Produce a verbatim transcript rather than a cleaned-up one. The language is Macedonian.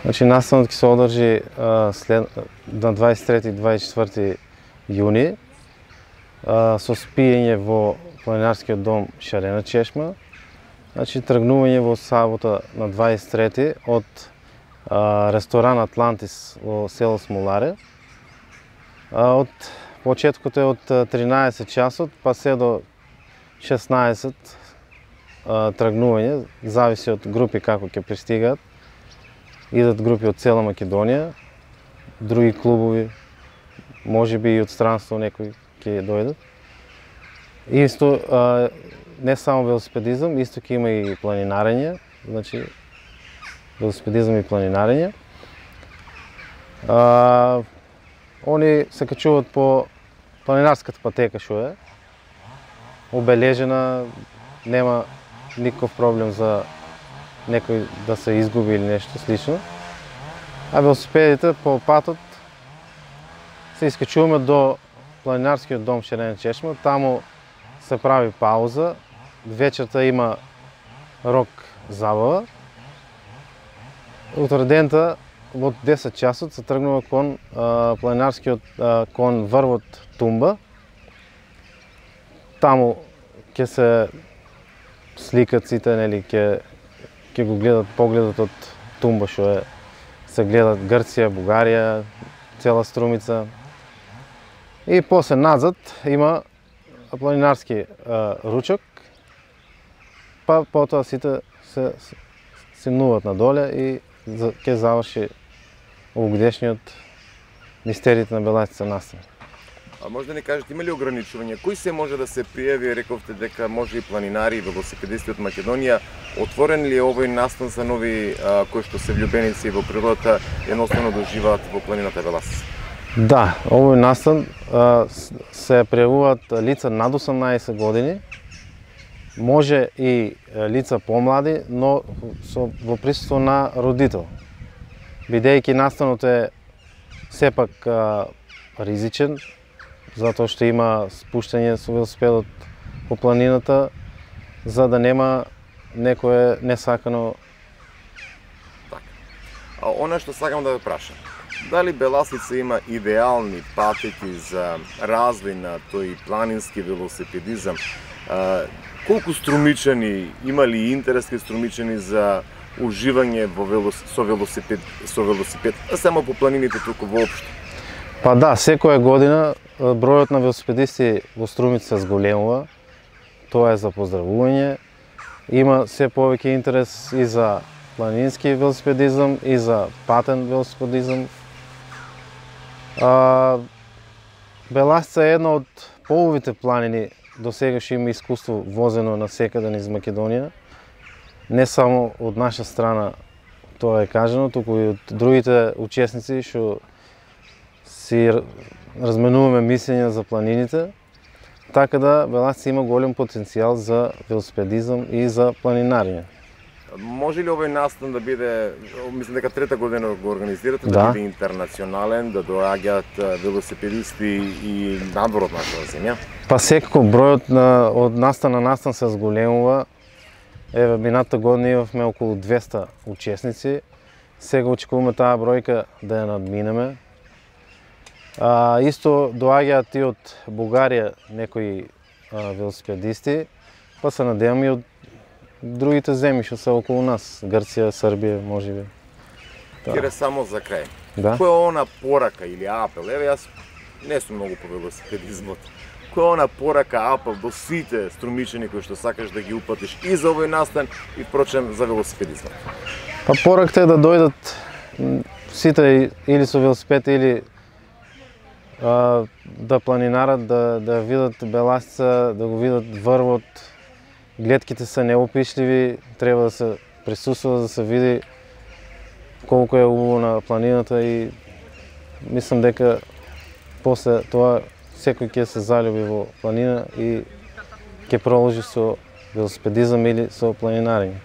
Значи, настанот ќе се одржи а, след, на дваесет и трети и дваесет и четврти јуни а, со спиење во планинарскиот дом Шарена чешма. Значи, тргнување во сабота на дваесет и трети од а, ресторан Атлантис во село Смоларе. А, од почеткот е од тринаесет часот па се до шеснаесет а, тргнување, зависи од групи како ќе пристигаат. Идат групи од цела Македонија, други клубови, можеби и од странство некои ќе дојдат. Исто, а, не само велосипедизам, исто ќе има и планинарење, значи велосипедизам и планинарење. А, они се качуваат по планинарската патека што е, обележена, нема никаков проблем за некој да се изгуби или нешто слично. А велосипедите по патот се искачуваме до планинарскиот дом Шарена чешма, таму се прави пауза, вечерта има рок забава. Утре дента од десет часот се тргнува кон а, планинарскиот а, кон врвот Тумба. Таму ќе се сликат сите, нели, ќе ќе го гледат погледот од Тумба што е, се гледат Грција, Бугарија, цела Струмица. И после назад има планинарски а, ручок, па потоа сите се симнуваат надоле и ќе заврши овогодишниот мистериите на Беласица настан. А може да ни кажете, има ли ограничувања? Кој се може да се пријави? Рековте дека може и планинари и велосипедисти од Македонија. Отворен ли е овој настан за нови а, кои што се влюбеници во природата, едноставно да уживаат во планината Беласица? Да, овој настан а, се пријавуваат лица над осумнаесет години, може и лица помлади, но со во присуство на родител. Бидејќи настанот е сепак а, ризичен, затоа што има спуштање со велосипедот по планината, за да нема некое несакано. Така. А она што сакам да ве прашам, дали Беласица има идеални патеки за развој на тој планински велосипедизам? А, колку струмичани, има ли интерес кај струмичани за уживање во велос... со велосипед, со велосипед, а само по планините туку воопшто? Па да, секоја година бројот на велосипедисти во Струмица се зголемува. Тоа е за поздравување. Има се повеќе интерес и за планински велосипедизам, и за патен велосипедизам. А, Беласица е една од половите планини до сега што има искуство возено насекаде низ Македонија. Не само од наша страна тоа е кажано, туку и од другите учесници што си разменуваме мислења за планините, така да Беласица има голем потенцијал за велосипедизам и за планинарење. Може ли овој настан да биде, мислам дека трета година го организирате, да, да биде интернационален, да доаѓаат велосипедисти и надвор од нашата земја? Па секако бројот на од настан на настан се зголемува. Еве, минатата година имавме околу двесте учесници. Сега очекуваме таа бројка да ја надминеме. А, исто доаѓаат и од Бугарија некои а, велосипедисти, па се надевам и од другите земји што се околу нас, Грција, Србија, можеби. Кире, само за крај. Да? Која е она порака или апел? Еве, јас не сум многу по велосипедизмот. Која е она порака, апел до сите струмичани кои што сакаш да ги упатиш и за овој настан и впрочем за велосипедизмот? Па пораката е да дојдат сите или со велосипед или а, да планинарат, да, да видат Беласица, да го видат врвот. Гледките се неопишливи, треба да се присуствува, да се види колку е убаво на планината и мислам дека после тоа секој ќе се залюби во планина и ќе продолжи со велосипедизам или со планинарење.